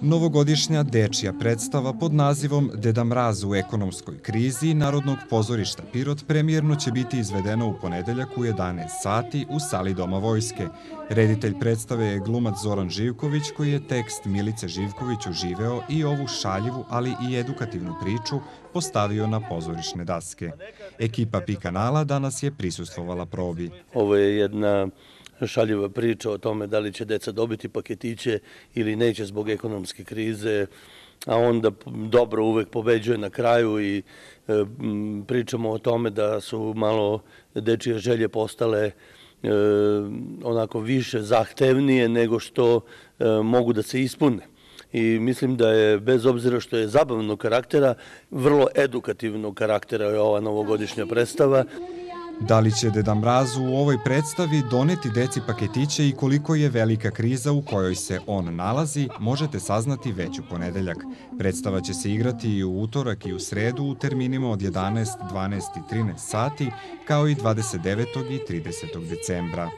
Novogodišnja dečija predstava pod nazivom Deda Mraz u ekonomskoj krizi Narodnog pozorišta Pirot premijerno će biti izvedena u ponedeljak u 11 sati u sali Doma vojske. Reditelj predstave je glumac Zoran Živković, koji je tekst Milice Živković uživeo i ovu šaljivu, ali i edukativnu priču postavio na pozorišne daske. Ekipa Pi kanala danas je prisustvovala probi. Ovo je jedna šaljiva priča o tome da li će deca dobiti paketiće ili neće zbog ekonomske krize, a onda dobro uvek pobeđuje na kraju i pričamo o tome da su malo dečije želje postale onako više zahtevnije nego što mogu da se ispune. I mislim da je, bez obzira što je zabavnog karaktera, vrlo edukativnog karaktera je ova novogodišnja predstava. Da li će Deda Mraz u ovoj predstavi doneti deci paketiće i koliko je velika kriza u kojoj se on nalazi, možete saznati već u ponedeljak. Predstava će se igrati i u utorak i u sredu u terminima od 11, 12 i 13 sati, kao i 29. i 30. decembra.